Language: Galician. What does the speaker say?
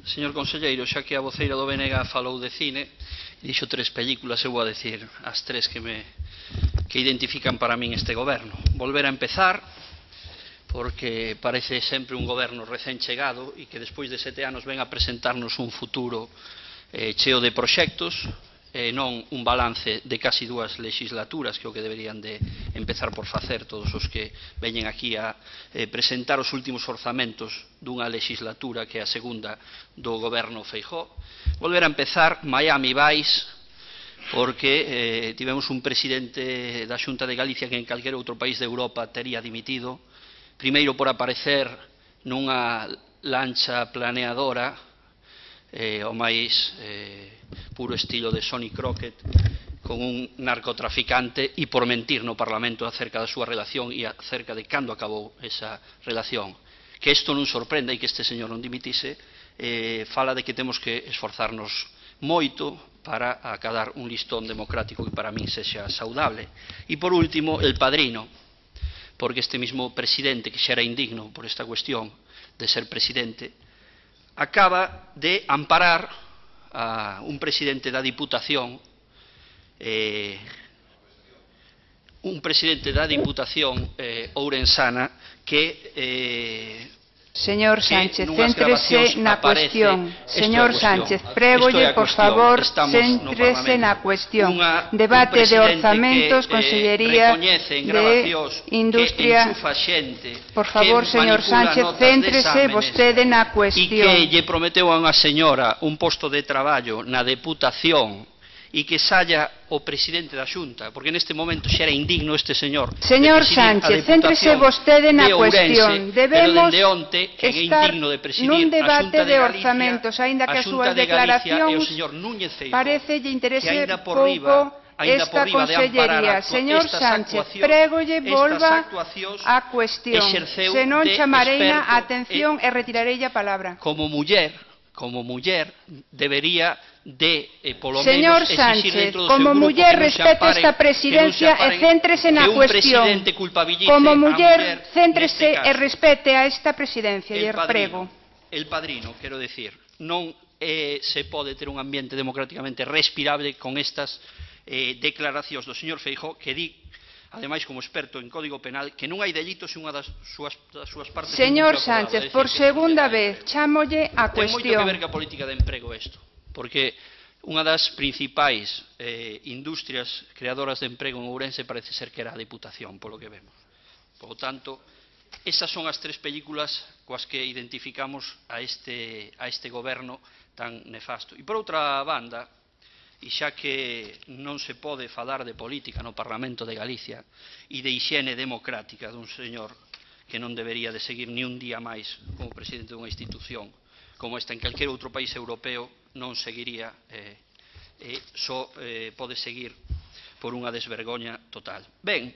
Señor conselleiro, xa que a voceira do BNG falou de cine, dixo 3 películas, eu vou a decir as 3 que identifican para min este goberno. Volver a empezar, porque parece sempre un goberno recén chegado e que despois de 7 anos ven a presentarnos un futuro cheo de proxectos, non un balance de casi 2 legislaturas, que é o que deberían de empezar por facer todos os que veñen aquí a presentar os últimos orzamentos dunha legislatura que é a segunda do goberno Feijóo. Volver a empezar, Miami Vice, porque tivemos un presidente da Xunta de Galicia que en calquer outro país de Europa tería dimitido, primeiro por aparecer nunha lancha planeadora, o máis puro estilo de Sonny Crockett, con un narcotraficante, e por mentir no Parlamento acerca da súa relación e acerca de cando acabou esa relación. Que isto non sorprenda e que este señor non dimitise, fala de que temos que esforzarnos moito para acadar un listón democrático que para min sexa saudable. E por último, El Padrino, porque este mismo presidente, que xa era indigno por esta cuestión de ser presidente, acaba de amparar a un presidente da Diputación, ourensana, que Señor Sánchez, céntrese na cuestión. Señor Sánchez, prégolle, por favor, céntrese na cuestión. Debate de orzamentos, Consellería de Industria. Por favor, señor Sánchez, céntrese vostede na cuestión. E que lle prometeu a unha señora un posto de traballo na Deputación e que saia o presidente da Xunta, porque neste momento xa era indigno este señor. Señor Sánchez, céntrese vostede na cuestión. Debemos estar nun debate de orzamentos, aínda que as súas declaracións parece lle interese pouco esta consellería. Señor Sánchez, prégolle volva á cuestión, senón chamareina a atención e retirarei a palabra. Como muller debería de, polo menos, señor Sánchez, como muller respete esta presidencia e céntrese na cuestión. Como muller, céntrese e respete a esta presidencia, e prego. El Padrino, quero decir, non se pode ter un ambiente democráticamente respirable con estas declaracións do señor Feijóo, que di, ademais como experto en Código Penal, que non hai delitos se unha das súas partes... Señor Sánchez, por segunda vez, chámolle a cuestión. Ten moito que ver ca política de emprego isto, porque unha das principais industrias creadoras de emprego en Ourense parece ser que era a Deputación, polo que vemos. Por lo tanto, esas son as 3 películas coas que identificamos a este goberno tan nefasto. E por outra banda, e xa que non se pode falar de política no Parlamento de Galicia e de hixiene democrática dun señor que non debería de seguir ni un día máis como presidente dunha institución como esta en calquer outro país europeo, non seguiría, só pode seguir por unha desvergoña total. Ben,